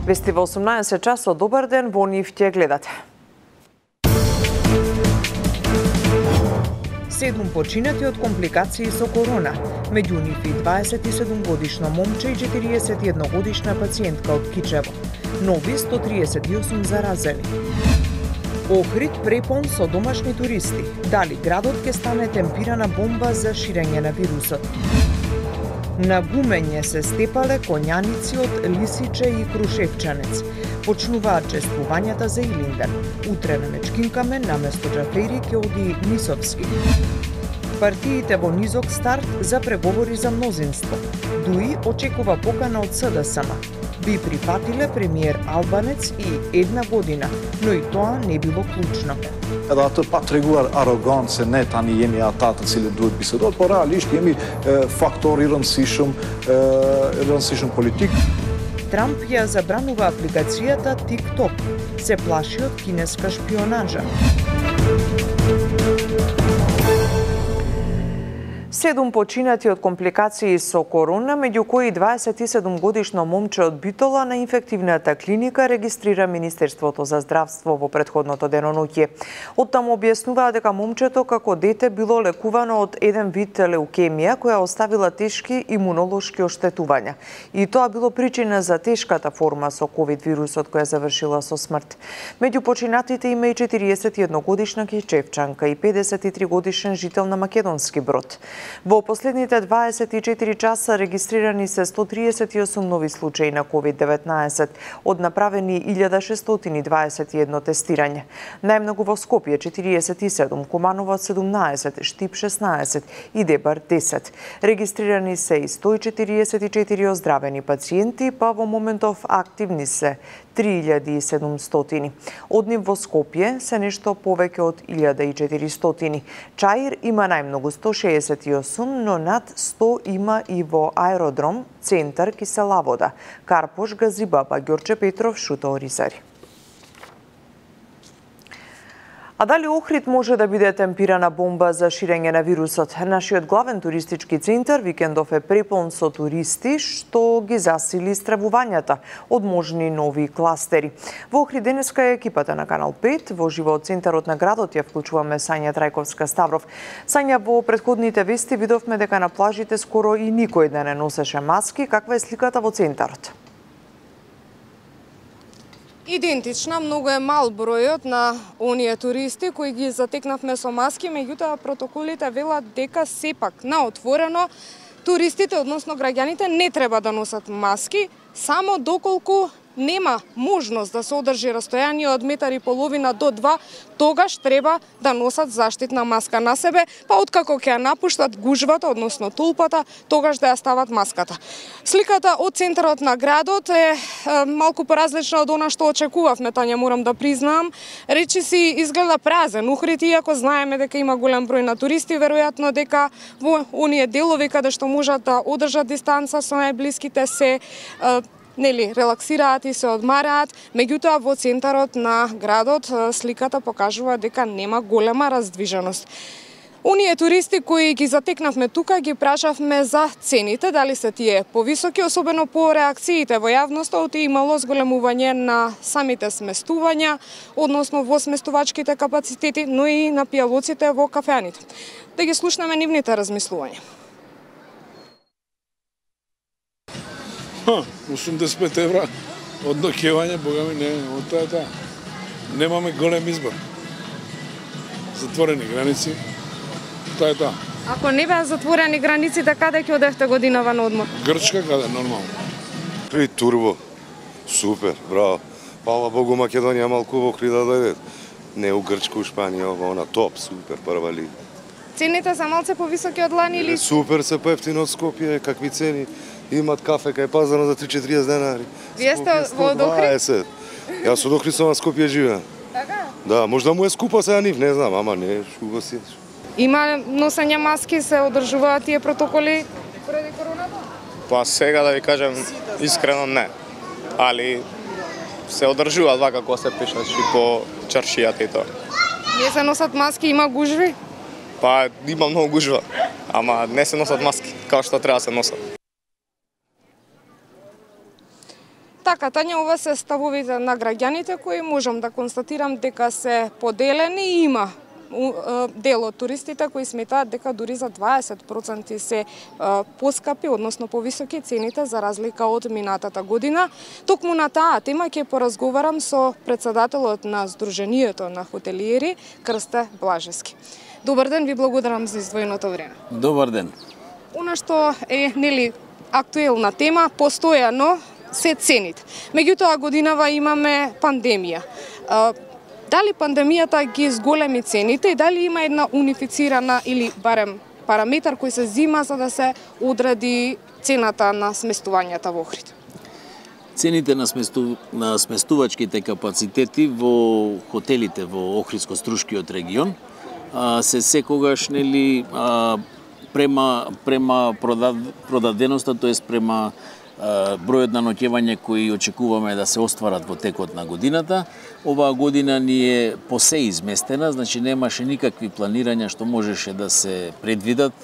Вести во 18 часот, добар ден, во нив ќе гледате. 7 починати од компликации со корона, меѓу нив и 27-годишно момче и 41-годишна пациентка од Кичево. Нови 138 заразени. Охрид препон со домашни туристи. Дали градот ќе стане темпирана бомба за ширење на вирусот? На гумење се степале конјаници од Лисиче и Крушевчанец. Почнуваат чествувањата за Илинден. Утре на Мечкинкамен наместо Џафери ќе оди Нисовски. Партиите во низок старт за преговори за мнозинство. ДУИ очекува покана од СДСМ. Би прифатиле премиер Албанец и 1 година, но и тоа не било клучно. Edhe atë pa treguar arrogant se ne tani jemi ata të cilët duhet bisedohet, por realisht jemi faktor i rëndësishëm politik. Трамп ја забранува апликацијата TikTok. Се плаши од кинеска шпионажа. 7 починати од компликации со корона, меѓу кои 27-годишно момче од Битола на инфективната клиника регистрира Министерството за здравство во претходното деноноќе. Оттаму објаснуваа дека момчето како дете било лекувано од еден вид леукемија која оставила тешки имунолошки оштетувања. И тоа било причина за тешката форма со ковид вирусот која завршила со смрт. Меѓу починатите има и 41-годишна кичевчанка и 53-годишен жител на Македонски Брод. Во последните 24 часа регистрирани се 138 нови случаи на COVID-19, од направени 1621 тестирање. Најмногу во Скопје 47, Куманово 17, Штип 16 и Дебар 10. Регистрирани се и 144 оздравени пациенти, па во моментов активни се 3700. Од нив во Скопје се нешто повеќе од 1400. Чаир има најмногу 168, но над 100 има и во Аеродром, Центар, Киселавода, Карпош, Газибаба, Ѓорче Петров, Шута Оризари. А дали Охрид може да биде темпирана бомба за ширење на вирусот? Нашиот главен туристички центар викендов е препон со туристи, што ги засили стравувањата од можни нови кластери. Во Охрид денеска е екипата на Канал 5, во живо од центарот на градот ја вклучуваме Сања Трајковска-Ставров. Сања, во претходните вести видовме дека на плажите скоро и никој да не носеше маски. Каква е сликата во центарот? Идентична, многу е мал бројот на оние туристи кои ги затекнавме со маски, меѓутоа протоколите велат дека сепак на отворено туристите, односно граѓаните, не треба да носат маски, само доколку нема можност да се одржи растојание од 1,5 до 2, тогаш треба да носат заштитна маска на себе, па откако ќе ја напуштат гужвата, односно толпата, тогаш да ја стават маската. Сликата од центарот на градот е малку поразлична од она што очекувавме, Тања, морам да признаам. Речиси изгледа празен Охрид, иако знаеме дека има голем број на туристи, веројатно дека во оние делови каде што можат да одржат дистанца со најблиските се релаксираат и се одмараат, меѓутоа во центарот на градот сликата покажува дека нема голема раздвиженост. Оние туристи кои ги затекнавме тука, ги прашавме за цените, дали се тие повисоки, особено по реакциите во јавноста, оти имало зголемување на самите сместувања, односно во сместувачките капацитети, но и на пијалоците во кафеаните. Да ги слушнеме нивните размислувања. 85 евра од ноќевање, бога ми, не, од тоа е тоа. Немаме голем избор. Затворени граници, тоа е тоа. Ако не беа затворени границите, каде ќе одевте годинава на одмор? Грчка, каде, нормално. При турбо, супер, браво. Фала Богу, Македонија малку во Охрид да дојде. Не у Грчка, у Шпанија, она топ, супер, прва лига. Цените се малце повисоки од лани или? Супер, се поевтино од Скопје, какви цени. Имат кафе кај пазарно за 3-40 денари. Вие сте во Охрид? Јас од Охрид сум на Скопје живеам. Така? Да, можда му е скупа сега нив, не знам, ама не, шуго си. Има носење маски, се одржуваат тие протоколи поради короната? Па сега да ви кажем искрено не. Али се одржуваат вака како се пишачи по чаршијата и тоа. Не се носат маски, има гужви? Па има многу гужва, ама не се носат маски, како што треба се носат. Така, Тања, ова се ставовите на граѓаните кои можам да констатирам дека се поделени и има дел од туристите кои сметаат дека дури за 20% се поскапи, односно повисоки цените за разлика од минатата година. Токму на таа тема ќе поразговарам со председателот на Сдруженијето на хотелиери Крсте Блажевски. Добар ден, ви благодарам за издвоеното време. Добар ден. Она што е актуелна тема, постојано се цените. Меѓутоа годинава имаме пандемија. Дали пандемијата ги зголеми цените и дали има една унифицирана или барем параметар кој се зима за да се одреди цената на сместувањата во Охрид? Цените на сместувачките капацитети во хотелите во Охридско-Струшкиот регион се секогаш према продаденоста, тоест према бројот на ноќевање кои очекуваме да се остварат во текот на годината. Оваа година ни е посе изместена, значи немаше никакви планирања што можеше да се предвидат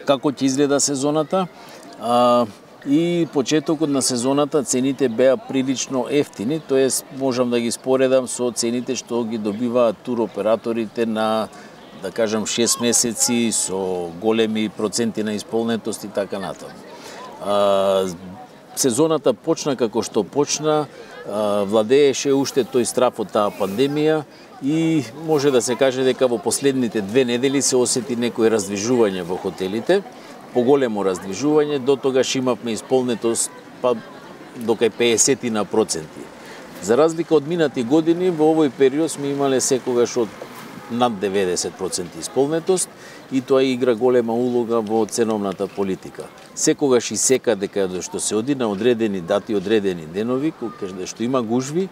како ќе изгледа сезоната. И почетокот на сезоната цените беа прилично ефтини, тоест можам да ги споредам со цените што ги добиваат туроператорите на, да кажам, 6 месеци со големи проценти на исполнетост и така натаму. Сезоната почна како што почна, владееше уште тој страф од таа пандемија и може да се каже дека во последните 2 недели се осети некој раздвижување во хотелите, поголемо раздвижување, до тогаш имавме исполнетост до кај 50%. За разлика од минати години, во овој период сме имале секогаш од над 90% исполнетост и тоа игра голема улога во ценовната политика. Секогаш и секаде каде што се оди на одредени дати, одредени денови, каде што има гужви,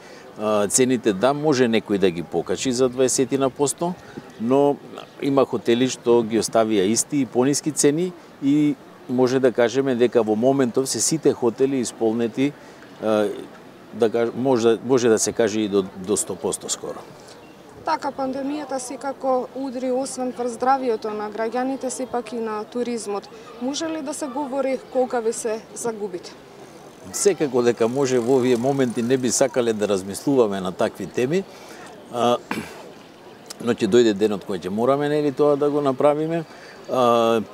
цените може некој да ги покачи за 20%, но има хотели што ги оставија исти и пониски цени и може да кажеме дека во моментов се сите хотели исполнети, може да се каже и до 100% скоро. Така, пандемијата секако удри освен врз здравието на граѓаните, сепак и на туризмот. Може ли да се говори колка ви се загубите? Секако дека може, во овие моменти не би сакале да размислуваме на такви теми, но ќе дојде денот кој ќе мораме тоа да го направиме.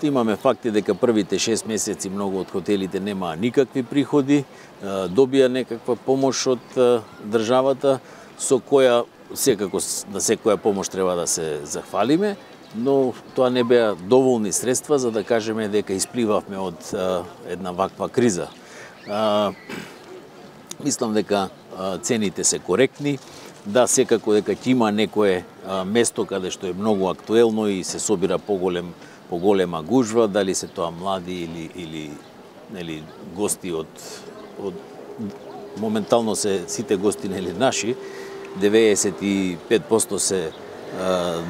Имаме факти дека првите 6 месеци многу од хотелите немаа никакви приходи, добија некаква помош од државата, со која секако на секоја помош треба да се захвалиме, но тоа не беа доволни средства за да кажеме дека испливавме од една ваква криза. Мислам дека цените се коректни, да, секако дека ќе има некое место каде што е многу актуелно и се собира поголема гужва, дали се тоа млади или гости од моментално се сите гости наши, 95% се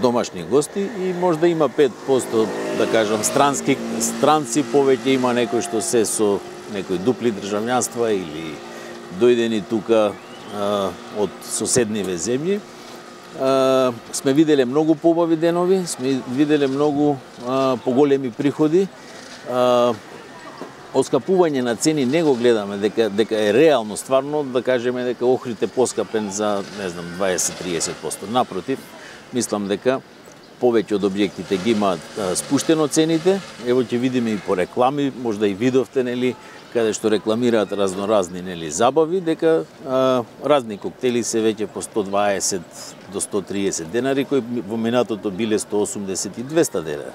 домашни гости и може да има 5%, да кажам, странци, повеќе има некои што се со некои дупли државјанства или дојдени тука од соседниве земји. Сме виделе многу побави денови, сме виделе многу поголеми приходи. Оскапување на цени не го гледаме дека е реално стварно да кажеме дека Охрид е поскапен за, не знам, 20-30%. Напротив, мислам дека повеќе од објектите ги имаат спуштено цените. Ево ќе видиме и по реклами, можда и видовте, каде што рекламираат разноразни забави, дека разни коктели се веќе по 120 до 130 денари, кои во минатото биле 180 и 200 денари.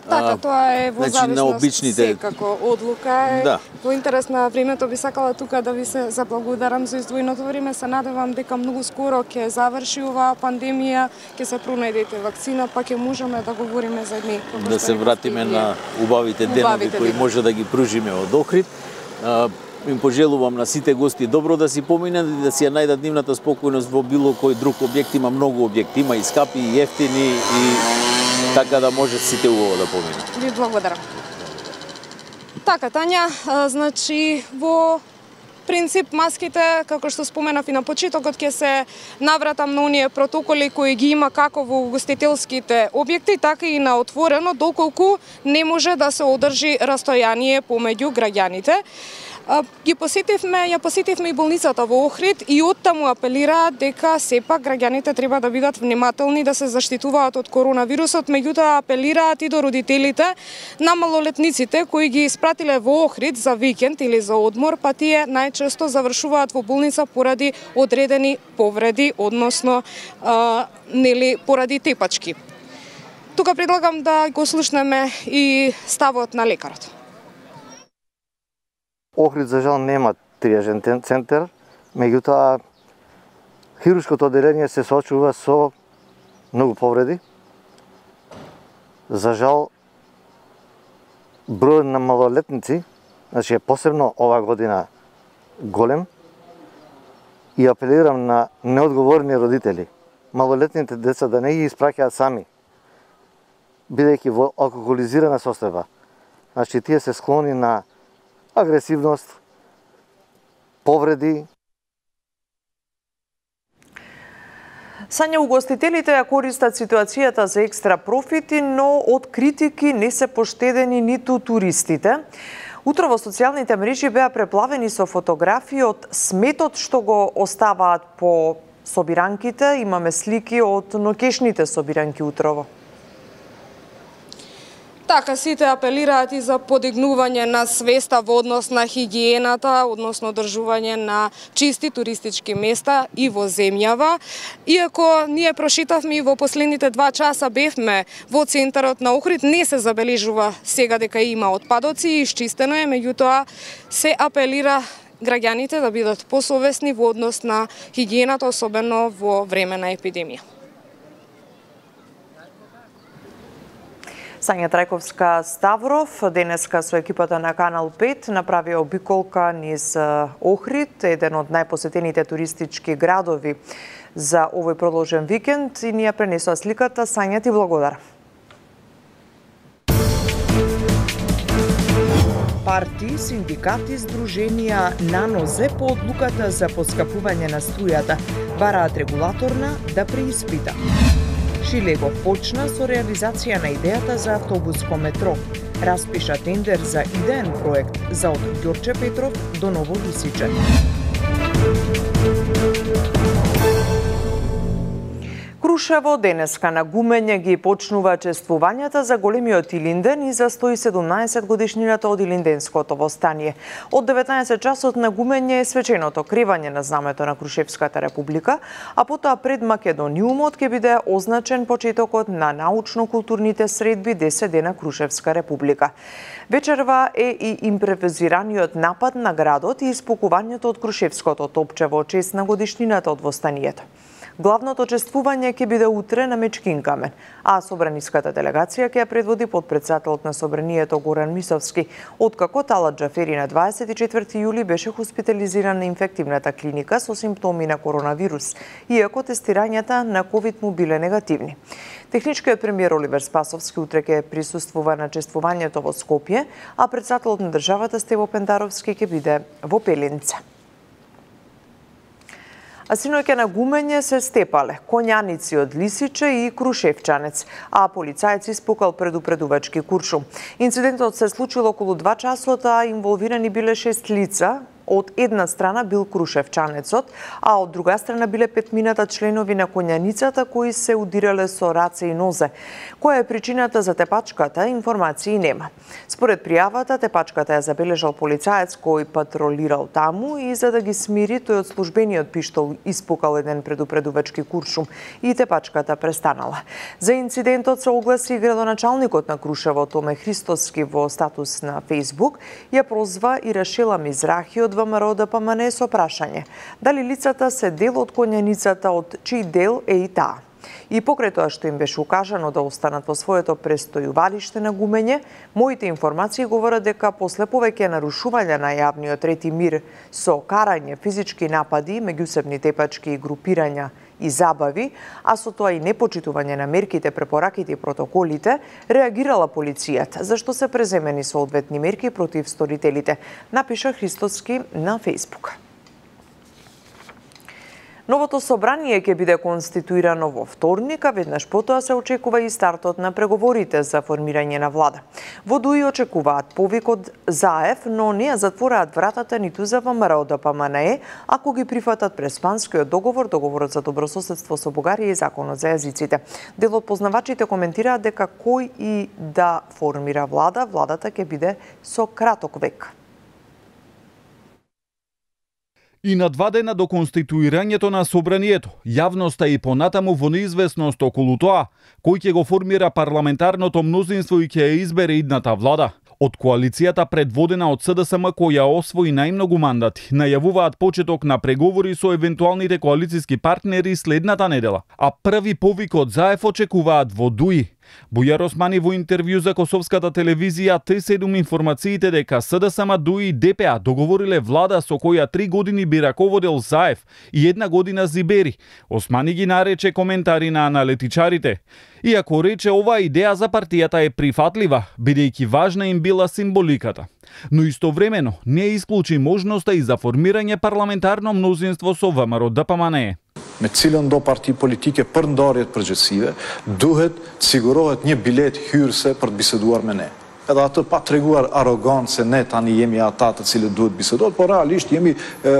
Така, тоа е во зависност секако одлука. Да. Во интерес на времето би сакала тука да ви се заблагодарам за издвоеното време. Се надевам дека многу скоро ќе заврши оваа пандемија, ќе се пронајдете вакцина, па ќе можеме да говориме за едни. Да се вратиме на убавите денови кои може да ги пружиме од Охрид. Им пожелувам на сите гости добро да си поминат и да си ја најдат нивната спокојност во било кој друг објект. Има многу објекти, има и скапи, и ефтини, и така да може сите убаво да поминат. Ви благодарам. Така, Тања, значи во принцип маските, како што споменав и на почетокот, ќе се навратам на оние протоколи кои ги има како во угостителските објекти, така и на отворено, доколку не може да се одржи растојание помеѓу граѓаните. Ја посетивме и болницата во Охрид и оттаму апелираат дека сепак граѓаните треба да бидат внимателни, да се заштитуваат од коронавирусот, меѓутоа апелираат и до родителите на малолетниците кои ги испратиле во Охрид за викенд или за одмор, па тие најчесто завршуваат во болница поради одредени повреди, односно поради тепачки. Тука предлагам да го слушнеме и ставот на лекарот. Охрид за жал нема триажен центар, меѓутоа хируршкото одделение се соочува со многу повреди. За жал број на малолетници, значи посебно ова година голем, и апелирам на неодговорни родители, малолетните деца да не ги испраќаат сами, бидејќи во алкохолизирана состојба. Значи тие се склони на агресивност, повреди. Сања, угостителите ја користат ситуацијата за екстра профити, но од критики не се поштедени ниту туристите. Утро во социјалните мрежи беа преплавени со фотографии од сметот што го оставаат по собиранките. Имаме слики од ноќешните собиранки утрово. Така, сите апелираат и за подигнување на свеста во однос на хигиената, односно одржување на чисти туристички места и во земјава. Иако ние прошетавме и во последните 2 часа бевме во центарот на Охрид, не се забележува сега дека има отпадоци и исчистено е, меѓутоа се апелира граѓаните да бидат посовесни во однос на хигиената, особено во време на епидемија. Сања Трајковска Ставров денеска со екипата на Канал 5 направи обиколка низ Охрид, еден од најпосетените туристички градови за овој продолжен викенд, и ни ја пренесува сликата. Сања, ти благодарам. Парти, синдикати, здруженија на нозе по одлуката за поскапување на струјата бараат регулаторна да преиспита. Шилегов почна со реализација на идејата за автобуско метро. Распиша тендер за идеен проект за од Ѓорче Петров до Ново Лисиче. Крушево денеска на гумење ги почнува чествувањата за големиот Илинден и за 117 годишнината од Илинденското востание. Од 19 часот на гумење е свеченото кревање на знамето на Крушевската република, а потоа пред Македониумот ќе биде означен почетокот на научно-културните средби 10 дена Крушевска република. Вечерва е и импровизираниот напад на градот и испокувањето од Крушевското топче во чест на годишнината од востанието. Главното чествување ќе биде утре на Мечкин камен, а собраниската делегација ќе ја предводи потпредседателот на собранието Горан Мисовски, откако Талат Џафери на 24 јули беше хоспитализиран на инфективната клиника со симптоми на коронавирус, иако тестирањата на ковид му биле негативни. Техничкиот премиер Оливер Спасовски утре ќе присуствува на чествувањето во Скопје, а председателот на државата Стево Пендаровски ќе биде во Пелинце. А синоќа на гумење се степале конјаници од Лисиче и Крушевчанец, а полицаец испукал предупредувачки куршум. Инцидентот се случил околу 2 часот, а инволвирани биле 6 лица. Од една страна бил Крушевчанецот, а од друга страна биле 5 членови на конјаницата кои се удирале со раце и нозе. Која е причината за тепачката, информации нема. Според пријавата, тепачката ја забележал полицаец кој патролирал таму и за да ги смири, тој од службениот пиштол испукал еден предупредувачки куршум и тепачката престанала. За инцидентот се огласи градоначалникот на Крушево Томе Христоски во статус на Facebook, ја прозва и Рашела Мизрахи од ВМРО ДПМН со прашање дали лицата се дел од конјаницата, од чиј дел е и таа. И покрај тоа што им беше укажано да останат во своето престојувалиште на гумење, моите информации говорат дека после повеќе нарушувања на јавниот ред и мир со карање, физички напади, меѓусебни тепачки и групирања и забави, а со тоа и непочитување на мерките, препораките и протоколите, реагирала полицијата, зашто се преземени соодветни мерки против сторителите, напиша Христоски на Фејсбук. Новото собрание ќе биде конституирано во вторник, а веднаш потоа се очекува и стартот на преговорите за формирање на влада. Во ДУИ очекуваат повик од ЗАЕФ, но не ја затвораат вратата ниту за ВМРО ДПМНЕ, ако ги прифатат Преспанскиот договор, договорот за добрососедство со Бугарија и законот за јазиците. Дел од познавачите коментираат дека кој и да формира влада, владата ќе биде со краток век. И на 2 дена до конституирањето на собранието, јавноста и понатаму во неизвестност околу тоа, кој ќе го формира парламентарното мнозинство и ќе ја избере идната влада. Од коалицијата предводена од СДСМ која освои најмногу мандати, најавуваат почеток на преговори со евентуалните коалициски партнери следната недела, а први повик од ЗАЕФ очекуваат во ДУИ. Бујар Османи во интервју за Косовската телевизија Т7 информациите дека СДСМ, ДУИ и ДПА договориле влада со која 3 години би раководел ЗАЕФ и 1 година Зибери. Османи ги нарече коментари на аналитичарите. Иако рече оваа идеја за партијата е прифатлива, бидејќи важна им била символиката. Но истовремено не исклучи можноста и за формирање парламентарно мнозинство со ВМРО ДПМНЕ. Me cilën do parti politike për ndarjet përgjithësive, duhet të sigurohet një bilet hyrëse për të biseduar me ne. Edhe atë pa treguar arrogancë se ne tani jemi ata të cilët duhet bisedohet, por realisht jemi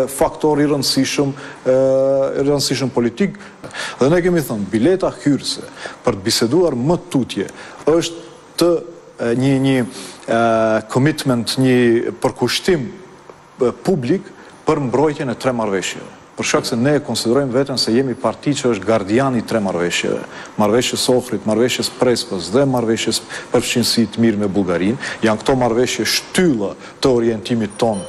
faktor i rëndësishëm politik. Dhe ne kemi thënë, bileta hyrëse për të biseduar më tutje është një commitment, një përkushtim publik për mbrojtjen e 3 marrëveshjeve. Për shkak se ne konsiderojmë veten se jemi parti që është gardiani i 3 marrëveshjeve. Marrëveshjes Ohrit, marrëveshjes Prespës dhe marrëveshjes përfshirësi të mirë me Bullgarinë. Janë këto marrëveshje shtylla të orientimit ton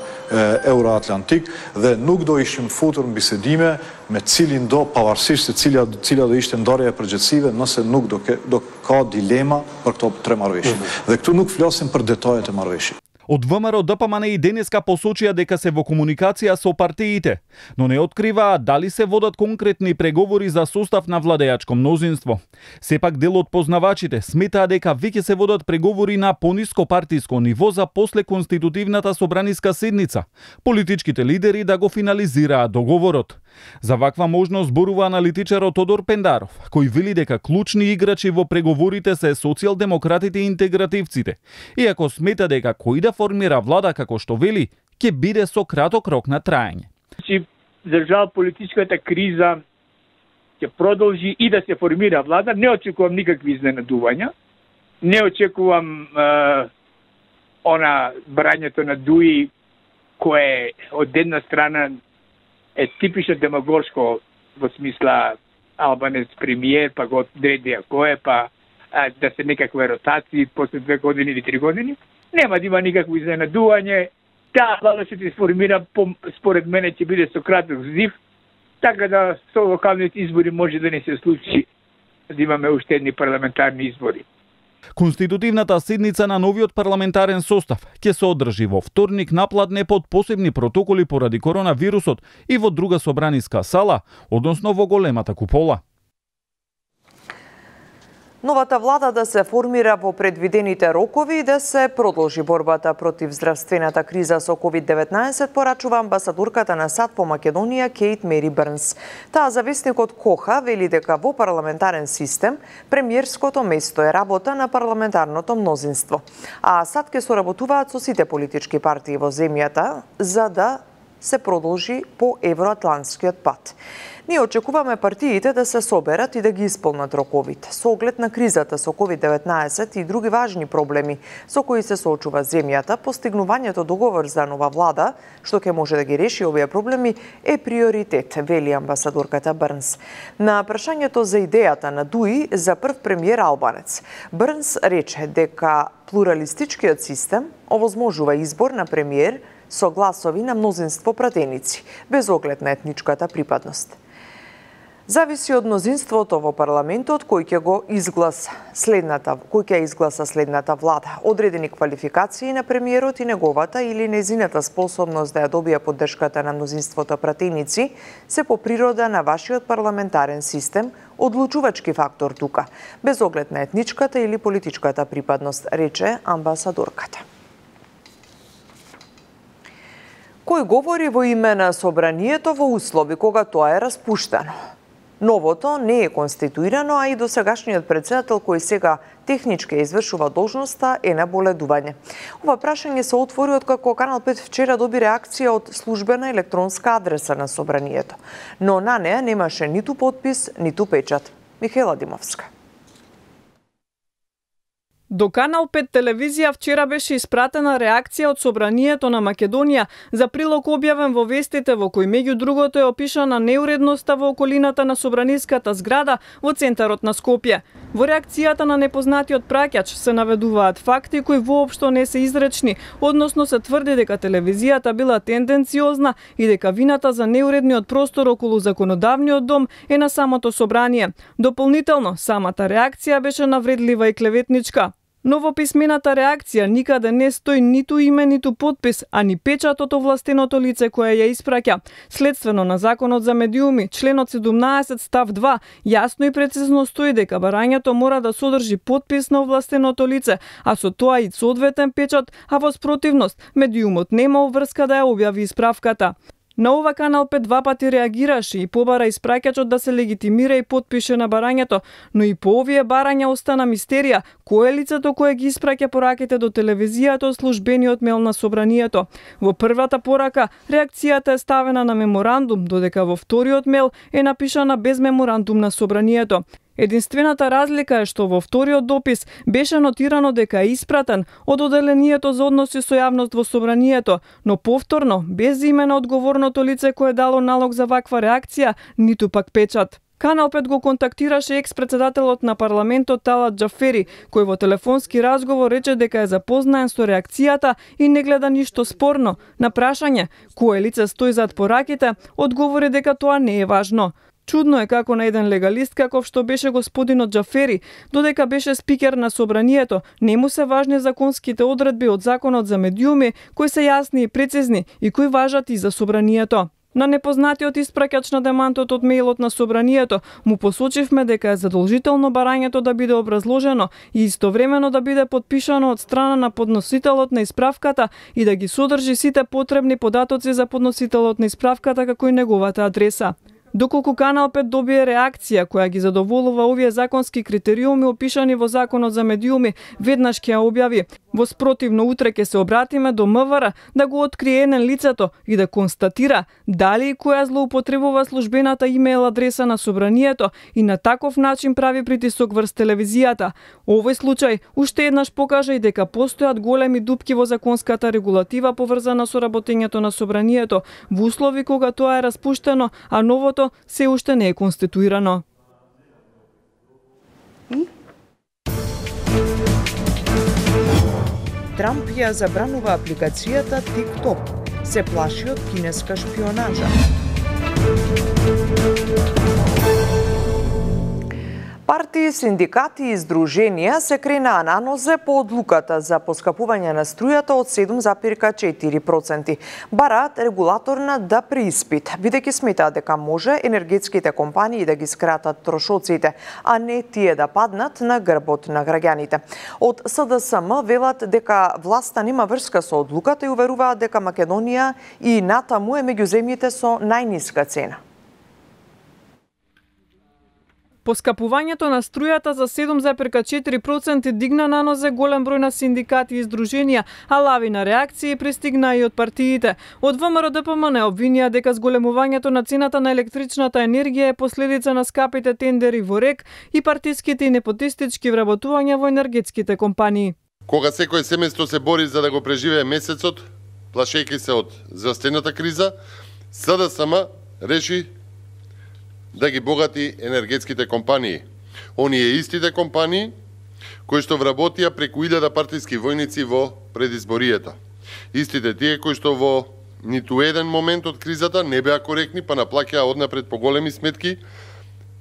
euroatlantik dhe nuk do ishim futur në bisedime me cilin do, pavarësisht se cila do ishte ndarja e përgjithësive, nëse nuk do ka dilema për këto 3 marrëveshje. Dhe këtu nuk flasim për detajet e marrëveshjes. Од ВМРО ДПМНЕ и денеска посочија дека се во комуникација со партиите, но не откриваат дали се водат конкретни преговори за состав на владеачко мнозинство. Сепак дел од познавачите сметаа дека веќе се водат преговори на пониско партиско ниво за после конститутивната собраниска седница, политичките лидери да го финализираат договорот. За ваква можност зборува аналитичарот Тодор Пендаров, кој вели дека клучни играчи во преговорите се социјалдемократите и интегративците, иако смета дека кој да формира влада, како што вели, ќе биде со краток рок на траење. За жал политичката криза ќе продолжи и да се формира влада. Не очекувам никакви изненадувања. Не очекувам брањето на ДУИ, кое од една страна е типично демагошко во смисла Албанец премиер, па го одреди кој е, па да се некакви ротации после 2 години или 3 години. Нема да има никакво изненадување. Таа влада што се сформира, според мене, ќе биде со краток зив, така да со локалните избори може да не се случи да имаме уште едни парламентарни избори. Конститутивната седница на новиот парламентарен состав ќе се одржи во вторник напладне под посебни протоколи поради коронавирусот и во друга собраниска сала, односно во големата купола. Новата влада да се формира во предвидените рокови и да се продолжи борбата против здравствената криза со COVID-19, порачува амбасадорката на САД по Македонија Кейт Мери Брнс. Таа зависникот Коха вели дека во парламентарен систем премиерското место е работа на парламентарното мнозинство, а САД ќе соработуваат со сите политички партии во земјата за да се продолжи по евроатлантскиот пат. Ние очекуваме партиите да се соберат и да ги исполнат роковите. Со оглед на кризата со COVID-19 и други важни проблеми со кои се соочува земјата, постигнувањето договор за нова влада, што ќе може да ги реши овие проблеми, е приоритет, вели амбасадорката Брнс. На прашањето за идејата на ДУИ за прв премиер албанец, Брнс рече дека плуралистичкиот систем овозможува избор на премиер со гласови на мнозинство пратеници, без оглед на етничката припадност. Зависи од мнозинството во парламентот кој ќе изгласа следната влада. Одредени квалификации на премиерот и неговата или незината способност да ја добија поддршката на мнозинството пратеници се по природа на вашиот парламентарен систем одлучувачки фактор тука, без оглед на етничката или политичката припадност, рече амбасадорката. Кој говори во име на собранието во услови кога тоа е распуштено? Новото не е конституирано, а и досегашниот председател кој сега технички извршува должноста е на боледување. Ова прашање се отвори откако Канал 5 вчера доби реакција од службена електронска адреса на собранието, но на неа немаше ниту потпис, ниту печат. Михаела Димовска. До Канал 5 телевизија вчера беше испратена реакција од Собранието на Македонија за прилог објавен во вестите во кој меѓу другото е опишана неуредноста во околината на собраниската зграда во центарот на Скопје. Во реакцијата на непознатиот праќач се наведуваат факти кои воопшто не се изречни, односно се тврди дека телевизијата била тенденциозна и дека вината за неуредниот простор околу законодавниот дом е на самото собрание. Дополнително, самата реакција беше навредлива и клеветничка. Но во писмената реакција никаде не стои ниту име, ниту подпис, а ни печат од овластеното лице кое ја испраќа. Следствено на Законот за медиуми, членот 17 став 2, јасно и прецизно стои дека барањето мора да содржи подпис на овластеното лице, а со тоа и соодветен печат, а во спротивност, медиумот нема обврска да ја објави исправката. На ова Канал 5 два пати реагираше и побара испраќачот да се легитимира и потпише на барањето, но и по овие барања остана мистерија кој е лицето кое ги испраќа пораките до телевизијата од службениот мејл на собранието. Во првата порака реакцијата е ставена на меморандум, додека во вториот мејл е напишана без меморандум на собранието. Единствената разлика е што во вториот допис беше нотирано дека е испратен од Оделението за односи со јавност во собранието, но повторно без име на одговорното лице кое дало налог за ваква реакција, ниту пак печат. Канал 5 го контактираше екс-председателот на парламентот Талат Џафери, кој во телефонски разговор рече дека е запознаен со реакцијата и не гледа ништо спорно. На прашање кое лице стои зад пораките, одговори дека тоа не е важно. Чудно е како на еден легалист каков што беше господинот Џафери, додека беше спикер на собранието, не му се важни законските одредби од Законот за медиуми, кои се јасни и прецизни и кои важат и за собранието. На непознатиот испраќач на демантот од мејлот на собранието му посочивме дека е задолжително барањето да биде образложено и истовремено да биде подпишано од страна на подносителот на исправката и да ги содржи сите потребни податоци за подносителот на исправката како и неговата адреса. Доколку Канал 5 добие реакција која ги задоволува овие законски критериуми опишани во Законот за медиуми, веднаш ќе ја објави. Во спротивно утре ќе се обратиме до МВР да го открие лицето и да констатира дали и која злоупотребува службената имејл адреса на собранието и на таков начин прави притисок врз телевизијата. Овој случај уште еднаш покажа и дека постојат големи дупки во законската регулатива поврзана со работењето на собранието во услови кога тоа е распуштено, а новото се уште не е конституирано. Трамп ја забранува апликацијата TikTok. Се плаши од кинеска шпионажа. Партии, синдикати и здруженија се кренаа на нозе по одлуката за поскапување на струјата од 7,4%. Бараат регулаторна да преиспит, бидејќи сметаат дека може енергетските компании да ги скратат трошоците, а не тие да паднат на грбот на граѓаните. Од СДСМ велат дека власта нема врска со одлуката и уверуваат дека Македонија и натаму е меѓу земјите со најниска цена. Поскапувањето на струјата за 7,4% дигна на нозе голем број на синдикати и здруженија, а лавина реакции пристигна и од партиите. Од ВМРО ДПМН обвинија дека зголемувањето на цената на електричната енергија е последица на скапите тендери во РЕК и партиските и непотистички вработувања во енергетските компании. Кога секој семејство се бори за да го преживее месецот, плашејќи се од здравствената криза, СДСМ реши да ги богати енергетските компании. Оние истите компании кои што вработија преку 1000 партиски војници во предизборијата. Истите тие кои што во ниту еден момент од кризата не беа коректни, па наплаќаа однапред поголеми сметки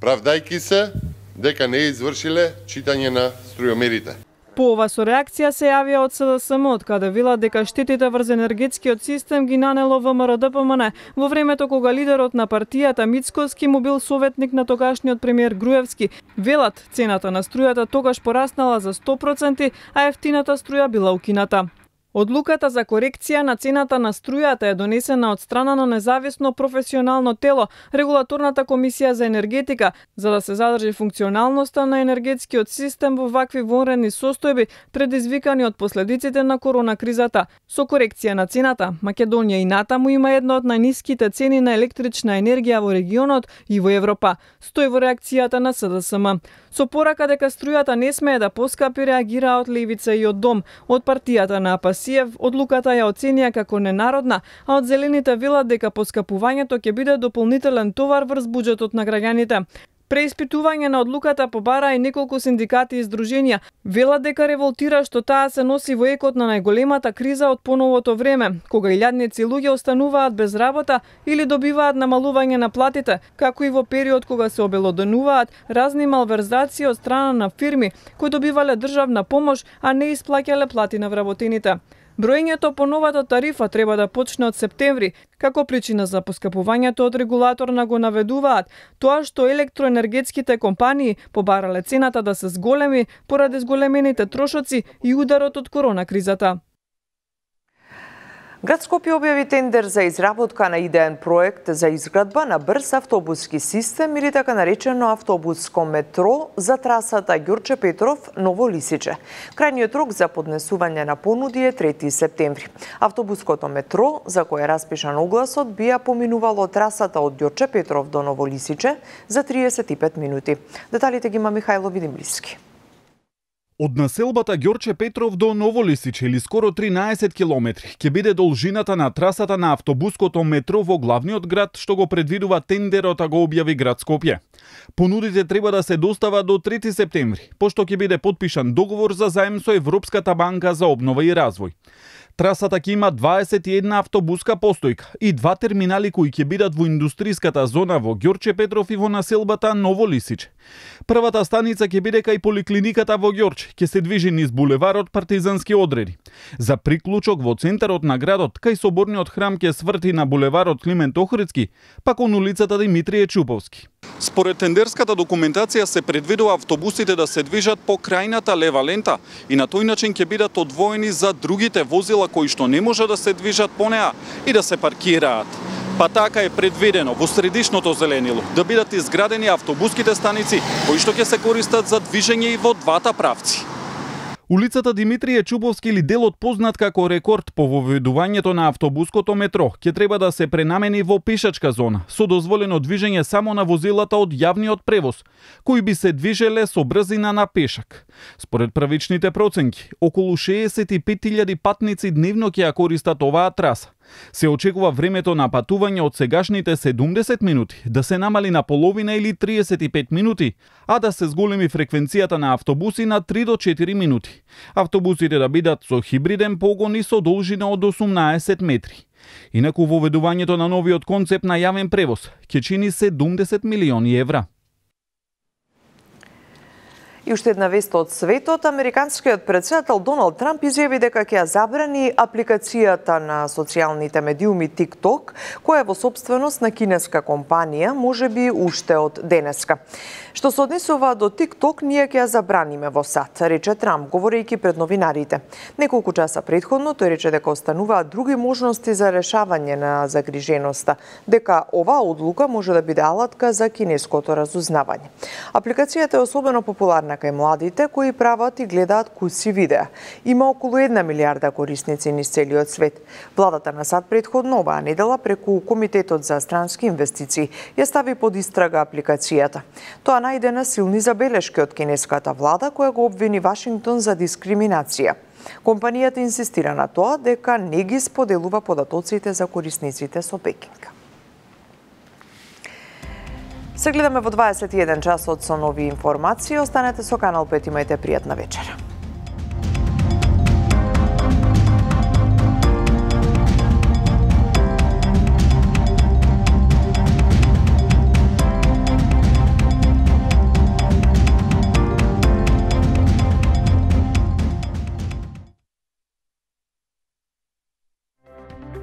правдајки се дека не извршиле читање на струјомерите. По ова со реакција се јавија од СДСМ, од каде велат дека штетите врз енергетскиот систем ги нанело ВМРО-ДПМН во времето кога лидерот на партијата Мицкоски му бил советник на тогашниот премиер Груевски. Велат, цената на струјата тогаш пораснала за 100%, а ефтината струја била укината. Одлуката за корекција на цената на струјата е донесена од страна на независно професионално тело, Регулаторната комисија за енергетика, за да се задржи функционалноста на енергетскиот систем во вакви вонредни состојби, предизвикани од последиците на корона кризата. Со корекција на цената, Македонија и натаму има една од најниските цени на електрична енергија во регионот и во Европа, стои во реакцијата на СДСМ. Со порака дека струјата не смее да поскапи, реагираат од Левица и од Дом. Од партијата на Апасиев одлуката ја оценија како ненародна, а од Зелените велат дека поскапувањето ќе биде дополнителен товар врз буџетот на граѓаните. Преиспитување на одлуката побара и неколку синдикати и здруженија. Велат дека револтира што таа се носи во екот на најголемата криза од поновото време, кога илјадници луѓе остануваат без работа или добиваат намалување на платите, како и во период кога се обелоденуваат разни малверзации од страна на фирми кои добивале државна помош, а не исплаќале плати на вработените. Броењето по новата тарифа треба да почне од септември. Како причина за поскапувањето од регулаторна го наведуваат тоа што електроенергетските компании побарале цената да се зголеми поради зголемените трошоци и ударот од корона кризата. Град Скопје објави тендер за изработка на идеен проект за изградба на брз автобуски систем или така наречено автобуско метро за трасата Ѓорче Петров – Ново Лисиче. Крајниот рок за поднесување на понуди е 3 септември. Автобуското метро, за кое е распишан огласот, би ја поминувало трасата од Ѓорче Петров до Ново Лисиче за 35 минути. Деталите ги има Михајло Видимлиски. Од населбата Ѓорче Петров до Ново Лисиче, или скоро 13 километри, ќе биде должината на трасата на автобуското метро во главниот град, што го предвидува тендерот, а го објави град Скопје. Понудите треба да се достават до 3 септември, пошто ќе биде подпишан договор за заем со Европската банка за обнова и развој. Трасата ќе има 21 автобуска постојка и 2 терминали кои ќе бидат во индустриската зона во Ѓорче Петров и во населбата Ново Лисиче. Првата станица ќе биде кај поликлиниката во Ѓорче, ќе се движи низ булеварот Партизански одреди. За приклучок во центарот на градот, кај соборниот храм ќе сврти на булеварот Климент Охридски, пак кон улицата Димитрije Чуповски. Според тендерската документација се предвидува автобусите да се движат по крајната лева лента и на тој начин ќе бидат одвоени за другите возила кои што не може да се движат по неа и да се паркираат. Па така е предвидено во средишното зеленило да бидат изградени автобуските станици кои што ќе се користат за движење и во двата правци. Улицата Димитрije Чуповски или делот познат како рекорд по воведувањето на автобуското метро ќе треба да се пренамени во пешачка зона со дозволено движење само на возилата од јавниот превоз, кои би се движеле со брзина на пешак. Според првичните проценки, околу 65.000 патници дневно ќе ја користат оваа траса. Се очекува времето на патување од сегашните 70 минути да се намали на половина или 35 минути, а да се зголеми фреквенцијата на автобуси на 3 до 4 минути. Автобусите да бидат со хибриден погон и со должина од 18 метри. Инаку воведувањето на новиот концепт на јавен превоз ќе чини 70 милиони евра. И уште една вест од светот, американскиот претседател Доналд Трамп изјави дека ќе ја забрани апликацијата на социјалните медиуми TikTok, која е во собственост на кинеска компанија, можеби уште од денеска. Што се однесува до TikTok, ние ќе ја забраниме во САД, рече Трамп, говорејќи пред новинарите. Неколку часа претходно тој рече дека остануваат други можности за решавање на загриженоста, дека оваа одлука може да биде алатка за кинеското разузнавање. Апликацијата е особено популарна кај младите кои прават и гледаат куси видеа. Има околу 1 милиарда корисници низ целиот свет. Владата на САД претходно оваа недела преку Комитетот за странски инвестиции ја стави под истрага апликацијата. Тоа најде на силни забелешки од кинеската влада која го обвини Вашингтон за дискриминација. Компанијата инсистира на тоа дека не ги споделува податоците за корисниците со Пекинг. Се гледаме во 21 часот со нови информации. Останете со Канал 5, имајте пријатна вечера.